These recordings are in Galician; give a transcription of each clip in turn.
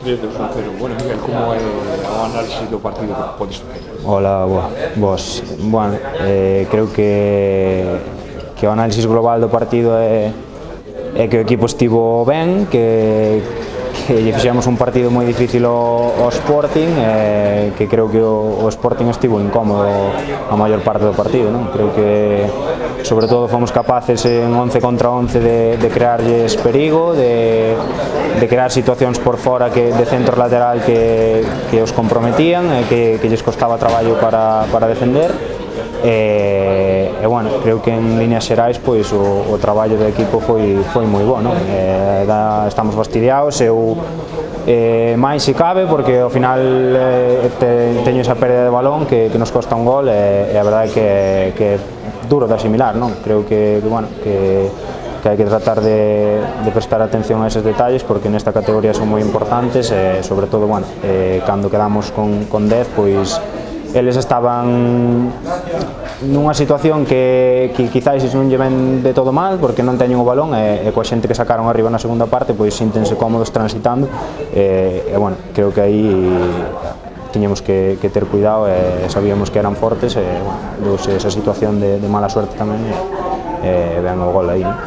desde o 0. Bueno, Miguel, como é o análisis do partido que podes facer? Hola, vos. Bueno, creo que o análisis global do partido é que o equipo estivo ben, que lle fixemos un partido moi difícil ao Sporting, que creo que o Sporting estivo incómodo a maior parte do partido, non? Creo que sobre todo fomos capaces en 11 contra 11 de crearlles perigo, de crear situacións por fora de centro lateral que os comprometían e que lles costaba traballo para defender. Bueno, creo que en líneas xerais pois o traballo do equipo foi moi bo, non? Estamos fastidiados, eu máis se cabe, porque ao final teño esa pérdida de balón que nos costa un gol e a verdade é que é duro de asimilar, non? Creo que hai que tratar de prestar atención a eses detalles, porque nesta categoría son moi importantes e sobre todo, bueno, cando quedamos con 10, pois eles estaban nunha situación que quizáis non lle ven de todo mal, porque non teñen o balón e coa xente que sacaron arriba na segunda parte pois síntense cómodos transitando e bueno, creo que aí tiñamos que ter cuidado e sabíamos que eran fortes e bueno, deuse esa situación de mala suerte tamén e ven o gol aí, non?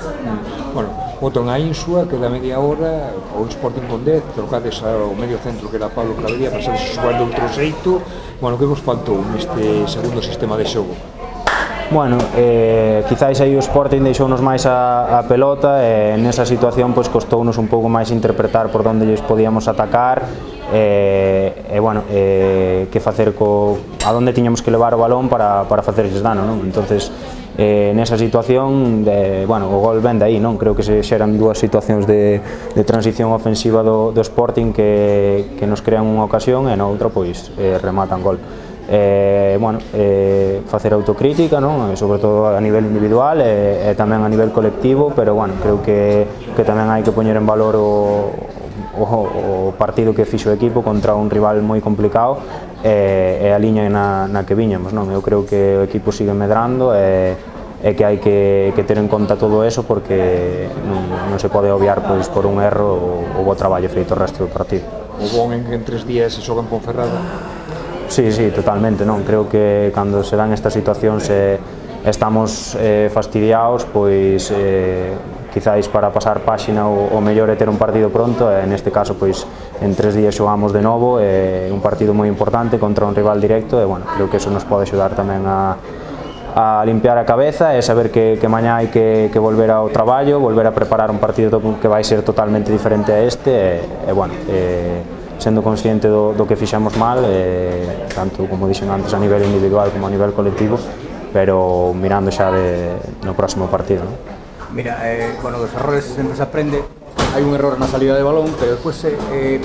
Bueno, botan a Insua, que da media hora, o Sporting con 10, trocades ao medio centro que era Pablo Clavería, pasades a xogar de outro xeito. Bueno, que vos faltou neste segundo sistema de xogo? Bueno, quizáis aí o Sporting deixounos máis a pelota e nesa situación pois costounos un pouco máis interpretar por onde lles podíamos atacar e bueno, que facer a onde tiñamos que levar o balón para facerlles dano, non? Entonces, nesa situación, bueno, o gol ven de aí, non? Creo que se xeran dúas situacións de transición ofensiva do Sporting que nos crean unha ocasión e na outra pois rematan gol. Bueno, facer autocrítica, non? Sobre todo a nivel individual e tamén a nivel colectivo, pero bueno, creo que tamén hai que poñer en valor o partido que fixo o equipo contra un rival moi complicado e a liña na que viñamos, non? Eu creo que o equipo sigue medrando e que hai que ter en conta todo eso, porque non se pode obviar pois por un erro o bo traballo feito o resto do partido. O bon en que en 3 días se xoga en Ponferrada? Sí, totalmente, non? Creo que cando se dan estas situacións estamos fastidiados, pois quizáis para pasar páxina o mellor é ter un partido pronto e neste caso pois en 3 días xogamos de novo, un partido moi importante contra un rival directo e bueno, creo que eso nos pode axudar tamén a limpiar a cabeza e saber que mañá hai que volver ao traballo, volver a preparar un partido que vai ser totalmente diferente a este e bueno, sendo consciente do que fixamos mal, tanto como dixen antes a nivel individual como a nivel colectivo, pero mirando xa no próximo partido, non? Mira, bueno, dos errores sempre se aprende. Hai un error na salida de balón, pero despois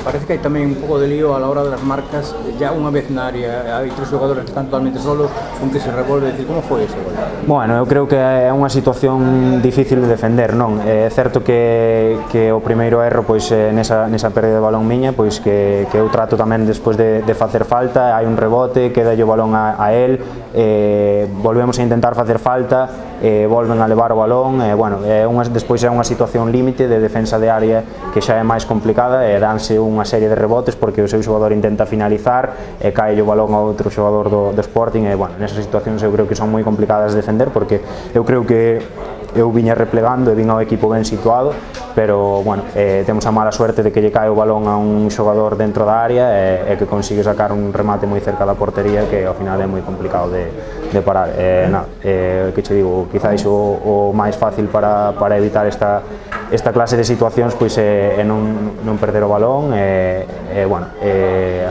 parece que hai tamén un pouco de lío a la hora das marcas. Ya unha vez na área hai 3 xogadores que están totalmente solos, un que se revolve, decir, como foi ese gol? Bueno, eu creo que é unha situación difícil de defender, non? É certo que o primeiro erro pois nesa pérdida de balón miña, pois que eu trato tamén despois de facer falta, hai un rebote, queda o balón a él, volvemos a intentar facer falta, volven a levar o balón, bueno, despois é unha situación límite de defensa de área que xa é máis complicada e danse unha serie de rebotes porque o seu xogador intenta finalizar e cae o balón a outro xogador do Sporting e, bueno, nesas situacións eu creo que son moi complicadas de defender porque eu creo que eu viña replegando e vin ao equipo ben situado, pero, bueno, temos a mala suerte de que lle cae o balón a un xogador dentro da área e que consigue sacar un remate moi cerca da portería que ao final é moi complicado de parar. Que che digo, quizáis o máis fácil para evitar esta clase de situacións pois é non perder o balón e bueno,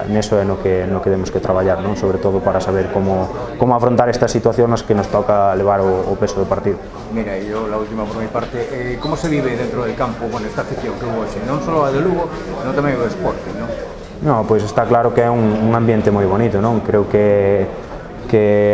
neso é no que temos que traballar, non? Sobre todo para saber como afrontar estas situacións que nos toca levar o peso do partido. Mira, e la última por mi parte, ¿cómo se vive dentro del campo con esta afición que hubo hoxe? Non só a de Lugo, sino tamén o Sporting, non? No, pois está claro que é un ambiente moi bonito, non? Creo que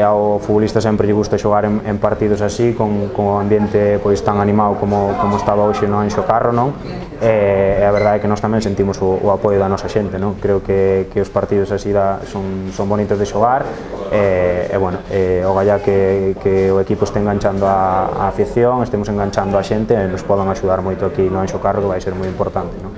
ao futbolista sempre lle gusta xogar en partidos así, con o ambiente pois tan animado como estaba hoxe no Anxo Carro, non? E a verdade é que nós tamén sentimos o apoio da nosa xente, non? Creo que os partidos así son bonitos de xogar e bueno, o galla que o equipo este enganchando a afición, estemos enganchando a xente e nos podan axudar moito aquí no Anxo Carro, que vai ser moi importante, non?